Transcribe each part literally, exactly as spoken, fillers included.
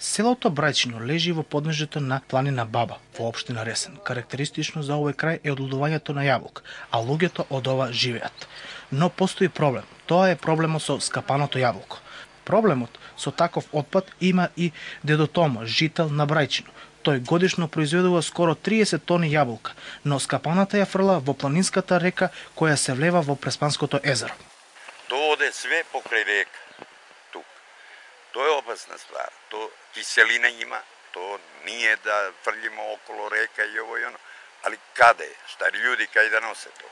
Селото Брајчино лежи во подножјето на планина Баба, во општина Ресен. Карактеристично за овој крај е одлудувањето на јаболка, а луѓето од ова живеат. Но постои проблем. Тоа е проблемот со скапаното јаболко. Проблемот со таков отпад има и дедо Томо, жител на Брајчино. Тој годишно произведува скоро триесет тони јаболка, но скапаната ја фрла во планинската река која се влева во Преспанското езеро. Тоа оде све покрај река. Тук. Тоа е опасна ствар. Тоа киселина има, тоа ние да фрлиме около река и ово и оно. Али каде? Стари луѓе кај да носе тоа?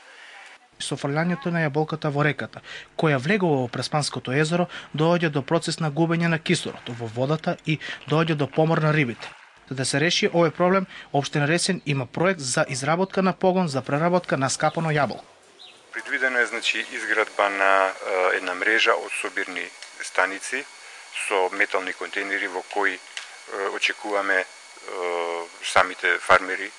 Со фрлањето на јаболката во реката, која влегува во Преспанското езеро, доаѓа до процес на губење на кислород во водата и доаѓа до помор на рибите. За да се реши овој проблем, општина Ресен има проект за изработка на погон за преработка на скапано јаболко. Предвидено е значи изградба на е, една мрежа од собирни станици со метални контейнери во кои е, очекуваме е, самите фармери,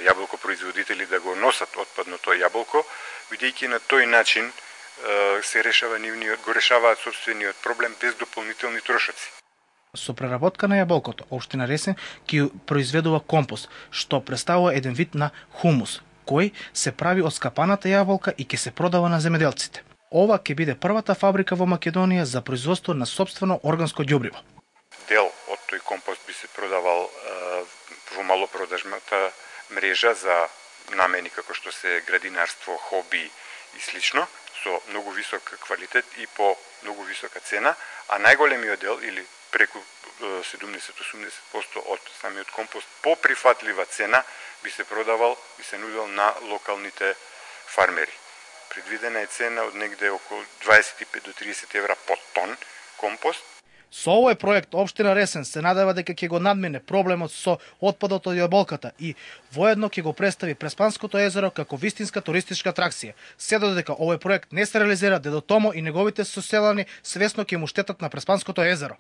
јаболкопроизводители да го носат отпадното јаболко, бидејќи на тој начин е, се решава нивниот, го решаваат собствениот проблем без дополнителни трошоци. Со преработка на јаболкото, општина Ресен ќе произведува компост, што представува еден вид на хумус, кој се прави од скапаната јаболка и ќе се продава на земјоделците. Ова ќе биде првата фабрика во Македонија за производство на сопствено органско ѓубриво. Дел од тој компост би се продавал е, во малопродажната мрежа за намени како што се градинарство, хоби и слично, со многу висок квалитет и по многу висока цена, а најголемиот дел или преку седумдесет до осумдесет проценти од самиот компост по прифатлива цена би се продавал и се нудел на локалните фармери. Предвидена е цена од негде околу дваесет и пет до тридесет евра по тон компост. Со овој проект општина Ресен се надева дека ќе го надмине проблемот со отпадот од јаболката и воедно ќе го представи Преспанското езеро како вистинска туристичка атракција. Се додека овој проект не се реализира, дедо Томо и неговите соселани свесно ќе му штетат на Преспанското езеро.